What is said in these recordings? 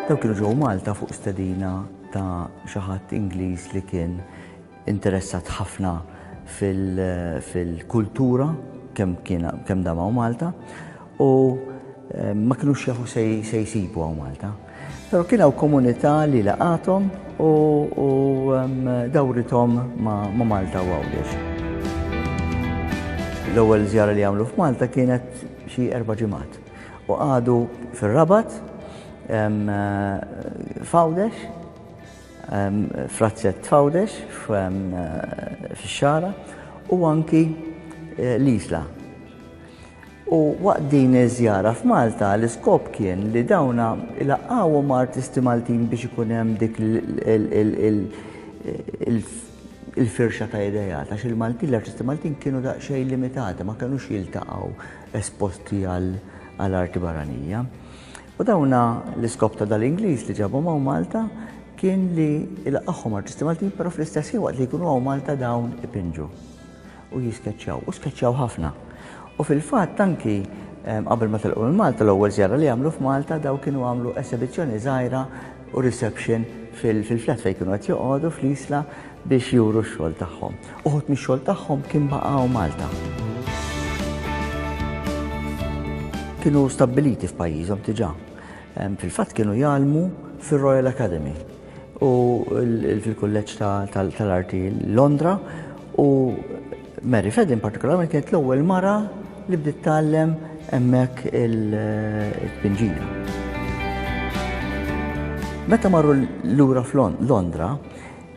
Daw kienu ġew Malta fuq stedina ta' xi ħadd Ingliż li kien interessat ħafna fil-kultura kemm kien kemm dam hawn Malta u eh, ma kinux jafu se jsibu hawn Malta. Però kien hawn komunità li laqathom u, u dawrithom ma, ma Malta u Għawdex. L-ewwel żjara li għamlu f'Malta kienet xi erba' ġimgħat u qagħdu fir-Rabat f'Għawdex f'razzett f'Għawdex fix-Xagħra u anki eh, l-Isla. U waqt din iż-żjara f'Malta l-iskop kien li dawna ilaqqgħuhom ma' artisti Maltin biex ikun hemm dik il-firxa ta' ideat għax il-Maltin, l-artisti Maltin kienu daqsxejn limitati, ma kinux jiltaqgħu esposti għal arti barranija. U dawna l-iskop ta' dal-Ingliż li ġabhom hawn Malta kien li ilaqqagħhom artisti Maltin, però fl-istess ħin waqt li jkunu hawn Malta dawn ipinġu u jiskeċċjaw, u skeċċjaw ħafna. U fil-fatt anki qabel ma telqu minn Malta l-ewwel żjara li għamlu f'Malta daw kienu għamlu esibizzjoni żgħira u reception fil-flat fejn kienu qed joqogħdu fl-Isla biex juru x-xogħol tagħhom. Uħud mix-xogħol tagħhom kien baqgħu Malta. Kienu stabbiliti f'pajjiżhom diġà. Fil-fatt kienu jgħallmu fir-Royal Academy u fil-kulleġġ tal-arti Londra u Mary Fedin partikolarment kienet l-ewwel mara li bdiet tgħallem hemmhekk il-tpinġija. Meta marru lura f'Londra,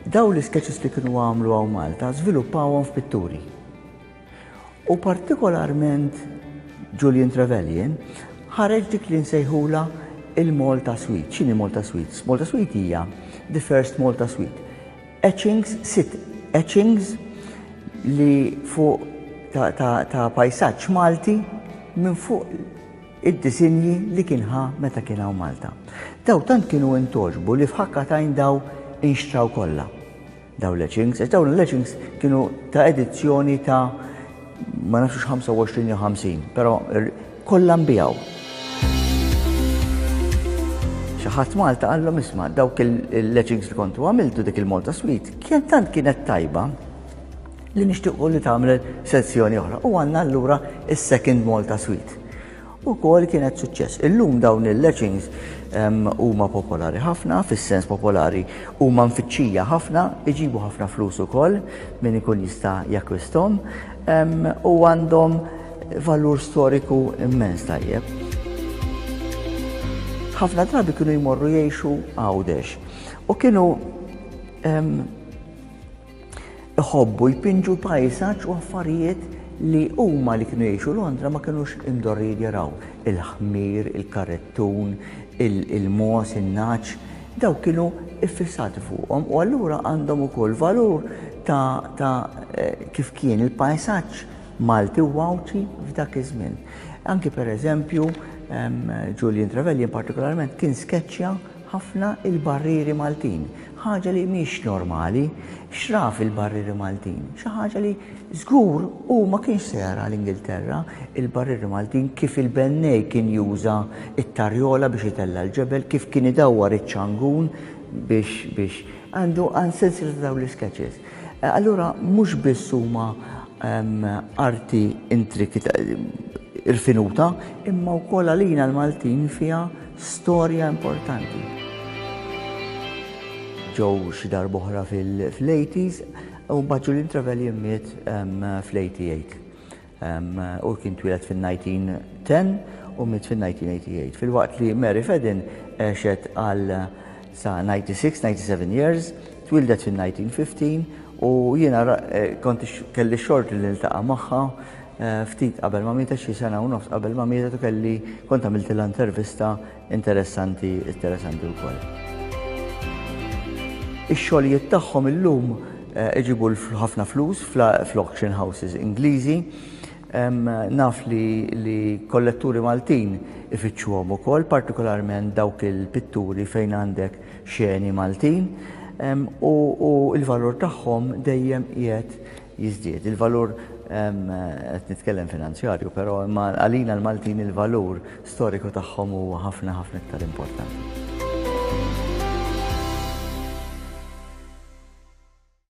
daw l-isketches li kienu għamlu hawn Malta żviluppawhom f'pitturi. U partikolarment Julian Trevelyan ħareġ dik li nsejħula il-Malta Suite. X'inhi Malta Suite? Malta Suite hija the first Malta Suite. Etchings, sit etchings li fuq ta', ta, ta pajsaġġ Malti minn fuq id-disinji li kien ħa meta kien hawn Malta. Daw tant kienu intogħġbu li f'ħakka t'għajn daw inxtraw kollha. Daw l-etchings, għax dawn l-etchings kienu ta' edizzjoni ta' ma nafx 25 jew 50, però kollha nbijaw. Xi ħadd Malta qallhom isma' dawk il-etchings li kontu għamiltu dik il-Malta Suite kien tant kienet tajba li nixtiequ li tagħmel sezzjoni oħra u għandna allura is-Second Malta Suite. Ukoll kienet suċċess. Illum dawn il-etchings huma popolari ħafna, fis-sens popolari huma mfittxija ħafna, iġibu ħafna flus ukoll min ikun jista' jakkwisthom u għandhom valur storiku immens tajjeb. Ħafna drabi kienu jmorru jgħixu Għawdex u kienu Iħobbu jpinġu pajsaġġ u affarijiet li huma li kienu jgħixu Londra ma kinux imdorrijin jaraw, il-ħmir, il-karettun, il-mogħoż, in-nagħaġ, dawk kienu iffissati fuqhom u allura għandhom ukoll valur ta' ta' kif kien il-pajsaġġ Malti u Għawdxi f'dak iż-żmien. Anki pereżempju Julian Trevelyan partikolarment kien skeċċja ħafna il-barrieri Maltin, ħaġa li mhix normali, x'ra fil-barrieri Maltin? Xi ħaġa li żgur hu ma kienx se jara l-Ingilterra, il-barrieri Maltin kif il-bennej kien juża t-tarjola biex itella' l-ġebel, kif kien idawwar iċ-ċangun biex biex għandu għand sensiela ta' dawn l-isketches. Allura mhux biss huma arti intrikita irfinuta, imma wkoll għalina l-Maltin fiha Storja importanti. Ġew xi darb'oħra fil-80s u mbagħad Julian Trevelyan miet fl-88. U kien twieled fil-1910 u miet fil-1988. Filwaqt li Mary Fedin għexet għal sa 96, 97 years, twieldet fil-1915 u jiena eh, kont kelli xort li niltaqa' magħha Ftit qabel ma mietet, xi sena u nofs qabel ma mietet u kelli kont għamiltilha intervista interessanti interessanti wkoll. Ix-xogħlijiet tagħhom illum eh, iġibu ħafna flus fl-auction houses Ingliżi. Naf li, li kolletturi Maltin ifittxuhom ukoll, partikolarment dawk il-pitturi fejn għandek xeni Maltin, u, u l-valur tagħhom dejjem qiegħed jiżdied. Il-valur qed nitkellem finanzjarju, però imma għalina l-Maltin il-valur storiku tagħhom huwa ħafna ħafna iktar importanti.